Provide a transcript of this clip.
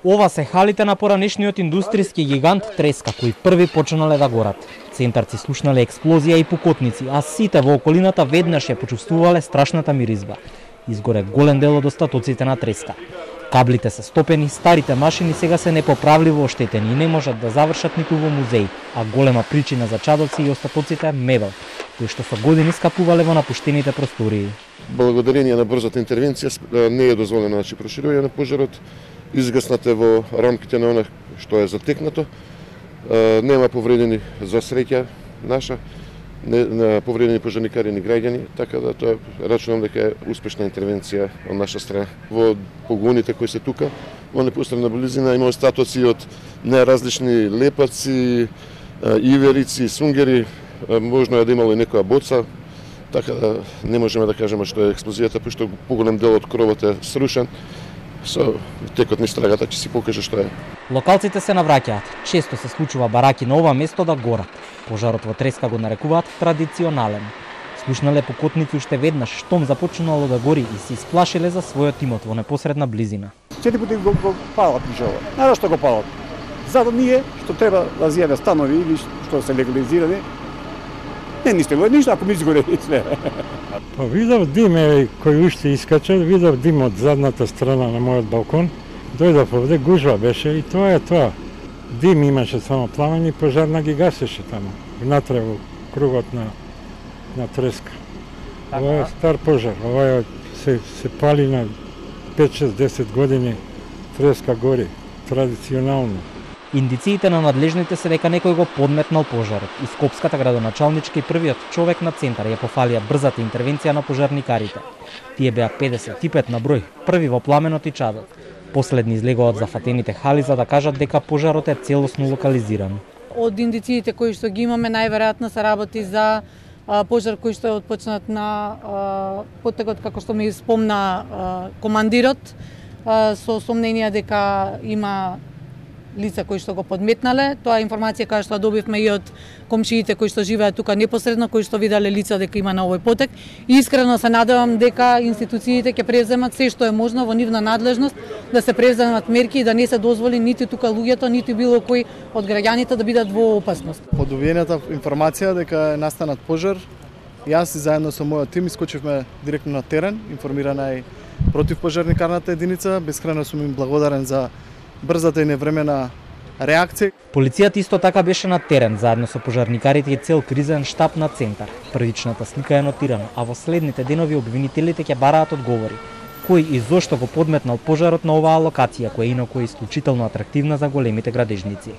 Ова се халите на поранешниот индустријски гигант Треска, кои први почнале да горат. Центарци слушнале експлозија и пукотници, а сите во околината веднаш ја почувствувале страшната миризба. Изгоре голем дел од остатоците на Треска. Каблите се стопени, старите машини сега се непоправливо оштетени и не можат да завршат ниту во музеи, а голема причина за чадоци и остатоците мебел, кои што со години скапувале во напуштените простории. Благодарение на брзата интервенција не е дозволено проширување на пожарот, изгаснате во рамките на она што е затекнато, нема повредени за среќа наша, на повредени пожарникари ни граѓани, така да тоа рачунам дека е успешна интервенција од наша страна. Во погоните кои се тука, во непосредна близина има остатоци од неразлични лепаци, иверици, сунгери, можно е да имало и некоја боца, така да не можеме да кажеме што е експлозијата, пошто поголем дел од кровот е срушен. Со текот низ трагата ќе си покаже што е. Локалците се навраќаат. Често се случува бараки на ова место да горат. Пожарот во Треска го нарекуваат традиционален. Слушнале пукотници уште веднаш штом започнало да гори и се исплашиле за својот имот во непосредна близина. 4 пати го палат пожарот. Знаеш што го палат? Зато ние што треба да зјаве станови или што се легализирани. Не ништо, ништо ако ми изгоре све. Па видов дим кој уште искача, видов дим од задната страна на мојот балкон. Дојдов овде, гужва беше и тоа е тоа. Дим имаше само пламење и пожарна ги гасеше таму, внатре во кругот на Треска. Ова е стар пожар, ова се пали на 5-6-10 години, Треска гори, традиционално. Индициите на надлежните се дека некој го подметнал пожарот. И Скопската градоначалничка и првиот човек на центар ја пофалија брзата интервенција на пожарникарите. Тие беа 55 на број, први во пламенот и чадот. Последни излегоа од зафатените хали за да кажат дека пожарот е целосно локализиран. Од индициите кои што ги имаме, најверојатно се работи за пожар кој што е отпочнат на потекот, како што ми спомна командирот, со сомнение дека има лица кои што го подметнале. Тоа е информација која што добивме и од комшиите кои што живеат тука непосредно, кои што виделе лица дека има на овој потек. И искрено се надевам дека институциите ќе преземат се што е можно во нивна надлежност, да се преземат мерки и да не се дозволи ниту тука луѓето, ниту било кој од граѓаните да бидат во опасност. По добиената информација дека е настанат пожар, јас и заедно со мојот тим искочивме директно на терен, информирана е противпожарникарната единица, бескрајно сум им благодарен за брзата и невремена реакција. Полицијата исто така беше на терен заедно со пожарникарите и цел кризен штаб на центар. Првичната слика е нотирана, а во следните денови обвинителите ќе бараат одговори. Кој и зошто го подметнал пожарот на оваа локација, која инаку е исклучително атрактивна за големите градежници.